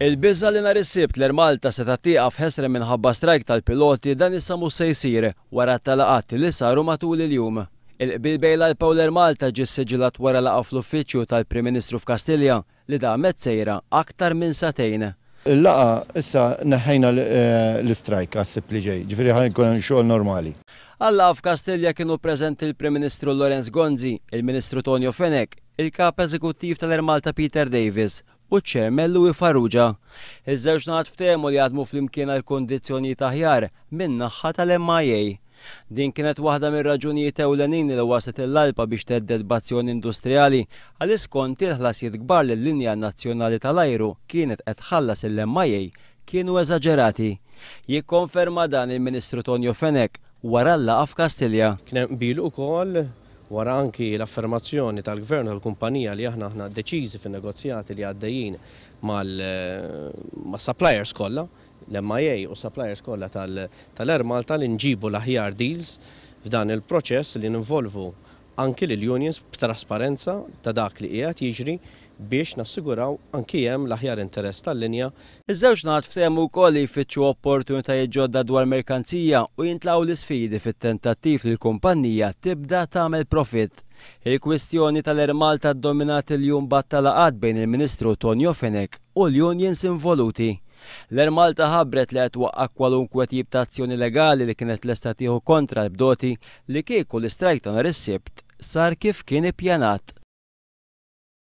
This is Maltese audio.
Il-biża' li nhar is-Sibt l-Air Malta setgħet tieqaf ħesrem minħabba strajk tal-piloti dan issa mhux se jsir wara t-talaqat li saru matul il-jum. Il-qbil bejn l-ALPA u l-Air Malta ġie ssiġillat wara laqgħa fl-uffiċċju tal-Prim Ministru f'Kastilja li damet sejra aktar minn sagħtejn. Il-laqgħa issa neħħejna l-istrajk għas-Sibt li ġej, ġifieri ħa jkun hemm xogħol normali. Għal-laqgħa f'Kastilja kienu preżenti l-Prim Ministru Lawrence Gonzi, il-Ministru Tonio Fenech, il-Kap Eżekuttiv tal-Air Malta Peter Davis u ċ-Chairman Louis Farrugia. Iż-żewġ naħat ftehmu li jaħdmu flimkien għal kundizzjonijiet aħjar min-naħha tal-MIA. Din kienet waħda mir-raġunijiet ewlenin li wasslet lill-ALPA biex thedded b'azzjoni industrijali għaliex skont hi l-ħlasijiet kbar li l-linja nazzjonali tal-ajru kienet qed tħallas lill-MIA kienu eżaġerati. Jikkonferma dan il-Ministru Tonio Fenech wara l-laqgħa f'Kastilja. Kien hemm qbil ukoll wara anki l-affermazzjoni tal-Gvern u tal-kumpanija li aħna aħna deċiżi fin-negozjati li għaddejjin mas-suppliers kollha, l-MIA u s-suppliers kollha tal-Air Malta li nġibu l-aħjar deals f'dan il-proċess li ninvolvu anki lill-unions b'trasparenza ta' dak li qiegħed jiġri biex nassiguraw anki hemm l-aħjar interess tal-linja. Iż-żewġ naħat ftehmu wkoll li jfittxu opportunitajiet ġodda dwar merkanzija u jintlaqgħu l-isfidi fit-tentattiv li l-kumpannija tibda tagħmel profitt. Il-kwistjoni tal-Air Malta ddominat il-jum b'għadd ta' laqgħat bejn il-Ministru Tonio Fenech u l-unions involuti. L-Air Malta ħabbret li qed twaqqa' kwalunkwe tip ta' azzjoni legali li kienet lesta tieħu kontra l-bdoti li kieku l-istrajk ta' nhar is-Sibt sar kif kien ippjanat.